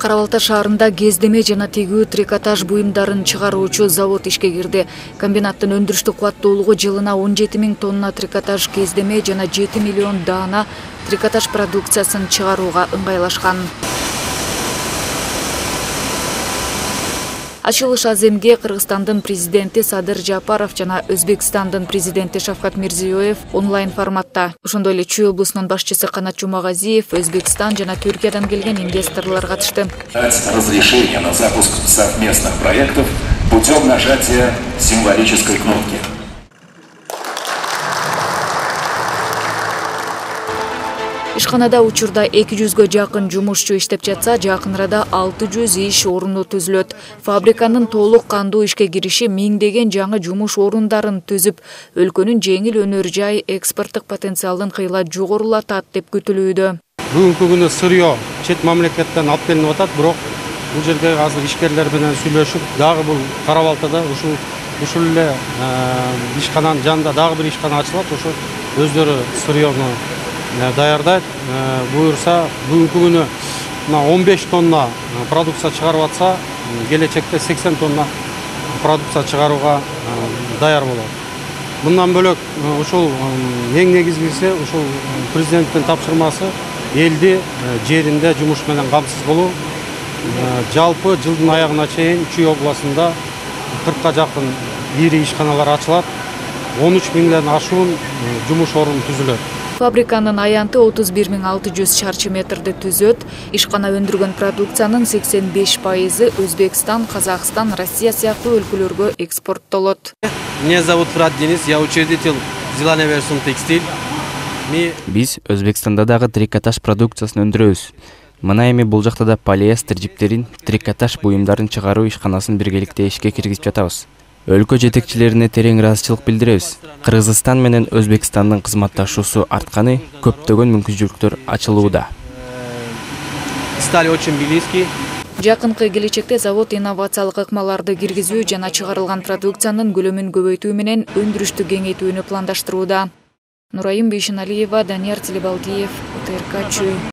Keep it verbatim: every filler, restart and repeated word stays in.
Кара Балта шаарында кездеме жана тигүү трикотаж буюмдарын чыгаруучу завод ишке кирди. Комбинаттын өндүрүштүк кубаттуулугу жылына он жети миң тонна трикотаж кездеме жана жети миллион даана трикотаж продукциясын чыгарууга ыңгайлашкан. Ачылыш аземге Кыргызстандын президенти Садыр Жапаров жана Өзбекстандын президенти Шавкат Мирзиёев онлайн форматта. Ошондой эле Чүй облусунун башчысы Канат Жумагазиев, Өзбекстан жана Түркиядан келген инвесторлор катышты. Разрешение на запуск совместных проектов путем нажатия символической кнопки. Ишканада учурда эки жүзгө жакын жумушчу иштеп жатса, жакын арада алты жүз иш орunu түзүлөт. Фабриканын толук кандуу ишке кириши миңдеген жаңы жумуш орундарын түзүп, өлкөнүн жеңил өнөр жай экспорттук потенциалын кыйла жогорулатат деп күтүлүүдө. Бүгүнкү күнү сырьё чет мамлекеттен алып келинип атат, бирок бул жерде азыр ишкерлер менен сүйлөшүп, дагы бул Кара Балтада ушул ушул эле ишкананын жанында дагы бир ишкана ачылат, ошо өздөрү сырьёну даярдайт. Буюрса, бүгүнкү күнү он беш тонна продукция чыгарып атса, келечекте сексен тонна продукция чыгарууга даяр болот. Мындан бөлөк ушул эң негизгиси ушул президенттин тапшырмасы элди жеринде жумуш менен камсыз болуу. Жалпы жылдын аягына чейин Чүй областында кыркка жакын ири ишканалар ачылат, он үч миңден ашуун жумуш орunu түзүлөт. Фабриканын аянты отуз бир миң алты жүз чарчы метрди түзөт. Ишкана өндүргөн продукциянын сексен беш пайызы Өзбекстан, Казакстан, Россия сыяктуу өлкөлөргө экспорттолот. Меня зовут Фрат Денис, я учредитель Зеленый Версум Текстиль. Биз Өзбекстанда дагы трикотаж продукциясын өндүрөбүз. Мына эми бул жакта да полиэстер жиптерин, трикотаж буюмдарын чыгаруу ишканасын биргеликте ишке киргизип жатабыз. Өлкө жетекчилерине терең ыраазычылык билдиребиз. Кыргызстан менен Өзбекстандын кызматташуусу артканы, көптөгөн мүмкүнчүлүктөр ачылууда. Стали очень близки. Жакынкы келечекте завод инновациялык ыкмаларды киргизүү жана чыгарылган продукциянын көлөмүн көбөйтүү менен өндүрүштү кеңейтүүнү пландаштырууда. Нурайым Бейшеналиева, Данияр Телебалдиев, ОТРК Чүй.